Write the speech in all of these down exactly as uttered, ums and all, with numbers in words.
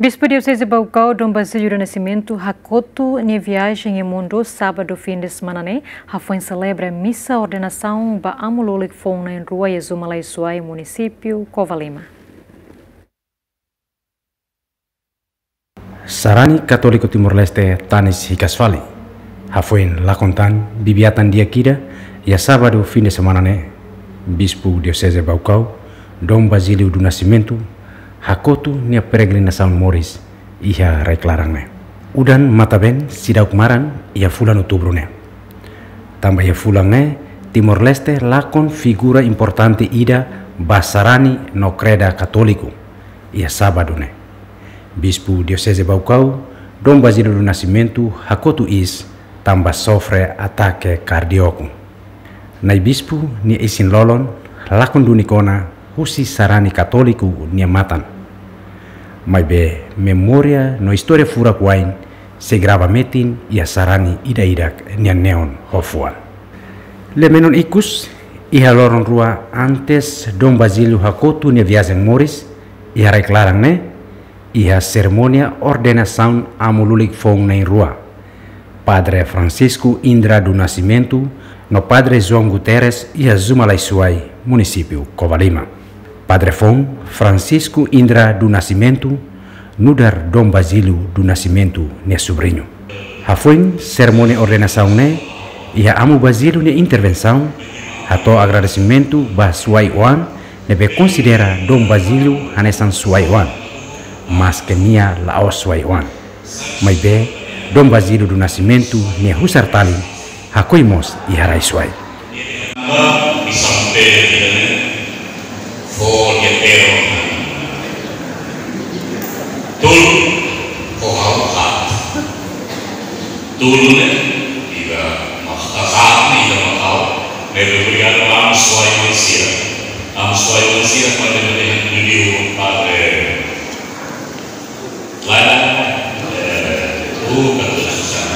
Bispu Dioseze Baucau, Dom Basílio do Nascimento, hakotu nia viajen iha mundu, sábadu fin de semana ne'e, hafoin selebra misa ordenasaun ba amu lulik foun na'in-rua iha Zumalai Suai, munisípiu Covalima. Sarani Katóliku Timor-Leste tanis hikas fali. Hafoin lakon tan bibi-atan di'ak ida, iha sábadu fin de semana ne'e, Bispu Dioseze Baucau, Dom Basílio do Nascimento, hakotu nia peregrinasaun moris iha rai-klaran ne'e. Udan matan-been seidauk maran iha fulan Outubru ne'e. Tanba iha fulan ne'e, Timor-Leste lakon figura importante ida ba sarani no kreda katóliku iha sábadu ne'e. Bispu Dioseze Baucau, Dom Basílio do Nascimento, hakotu iis tanba sofre atake kardíaku. Na'i Bispu nia isin-lolon lakon duni kona husi sarani katóliku nia matan. Maibé memória no istória furak-wa'in sei grava metin iha sarani ida-idak nia neon ho fuan. Lia-menon ikus, iha loron rua antes Dom Basílio hakotu nia viajen moris iha rai-klaran ne'e, iha serimónia ordenasaun amu lulik foun na'in-rua, Padre Francisco Indra do Nascimento no Padre João Guterres iha Zumalai Suai, munisípiu Covalima. Padre foun Francisco Indra do Nascimento, nu'udar Dom Basílio do Nascimento nia subriñu. Hafoin serimónia ordenasaun ne'e, iha Amu Basílio nia intervensaun, hato'o agradesimentu ba Suai-oan ne'ebé konsidera Dom Basílio hanesan Suai-oan, maske nia la'ós Suai-oan. Maibé, Dom Basílio do Nascimento nia husar talin hakoi mós iha rai Suai. Missão pele vida, né? Folha terra. Tudo, o hau hat. Tudo, né? Ida mak tazat, né? Ida mak hau. Ne'ebé obrigadu ba amu Suai-oan sira. Amu Suai-oan sira, kuandu ema dehan, Padre Lae, eh, oh, kata susah.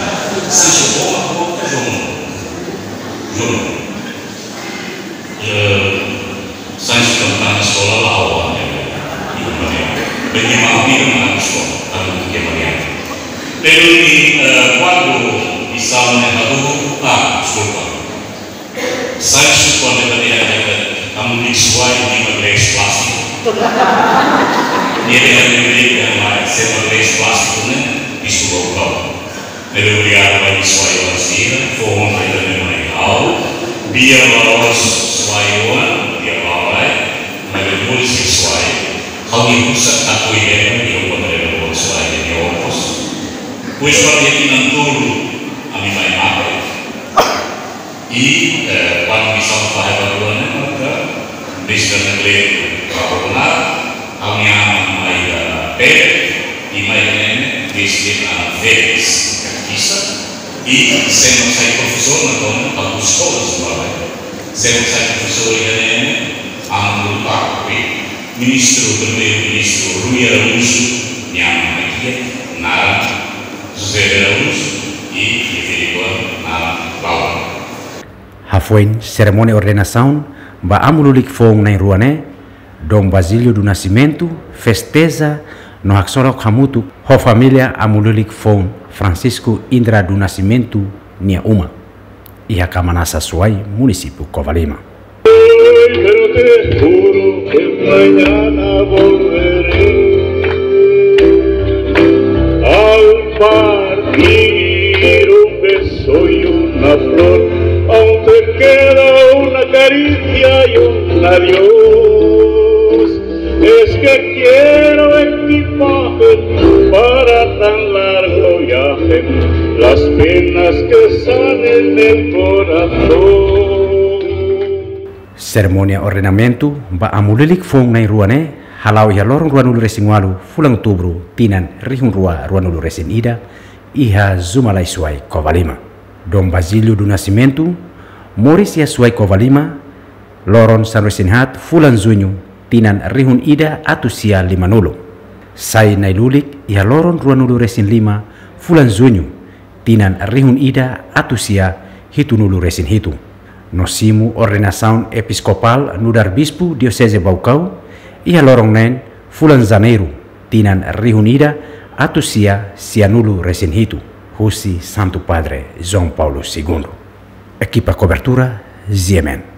Seja boa, boa, João. João. Eh, sai estudante na escola lá, ó, né? E uma vez, bem, minha mãe, minha mãe, na escola, tá muito que é Maria. Pero, e, eh, quando missão, né, tá tudo, ah, desculpa. Sai, kuandu ita dehan katak amu lulik Suai, nia mak lees plástiku. Nia dehan nia mak lees plástiku ne'e, Bispu Baucau. Ne'ebé obrigadu ba Suai-oan sira, fó honra ida-ne'e mai ha'u, bia ba Suai-oan, bia ba Suai, maibé moris iha Suai. Ha'u-nia husar katak ida-ne'e, nia mak lees Suai, nia nia okos. Pois, para nia kinan tolu, ami mai mate. I, eh, kuandu missão fahe ba rua ne'e, maka, Mister Anacleto, Rabonar, ami aman mai da Pere, i mai ne'e, Mister Ana Félix, Kakisa, i semo sai profesór na tona, ba eskola sumaba. Semo sai profesór ida ne'e, aman lupa, i Ministru, Primeiru-Ministru Rui Araújo, nia aman mai ki'ik, naran José de Araújo, i nia filikuan naran Laura. Hafoin serimónia ordenasaun ba amu lulik foun na'in-rua ne'e, Dom Basílio do Nascimento festeja no haksolok hamutuk ho família amu lulik foun Francisco Indra do Nascimento nia uma, iha Camanassa Suai, munisípiu Covalima. Hoy, pero te juro que mañana volveré a un partir, un beso y una flor, aún te queda una caricia y un adiós. Es que quiero equipaje para tan largo viaje, las penas que están en el corazón. Serimónia ordenamentu ba amu lulik foun na'in-rua ne'e hala'o iha loron ruanulu-resin-ualu fulan Outubru tinan rihun rua ruanulu-resin-ida iha Zumalai Suai, Covalima. Dom Basílio do Nascimento moris iha Suai, Covalima, loron sanulu-resin-haat fulan Juñu tinan rihun ida atus sia limanulu. Sai na'i-lulik iha loron ruanulu-resin-lima fulan Juñu tinan rihun ida atus sia hitunulu-resin-hitu. No simu ordenasaun episkopál nu'udar Bispu Dioseze Baucau iha loron neen fulan Janeiru tinan rihun ida atus sia sianulu resin hitu, husi Santu Padre João Paulo Segundo. Ekipa kobertura, G M N.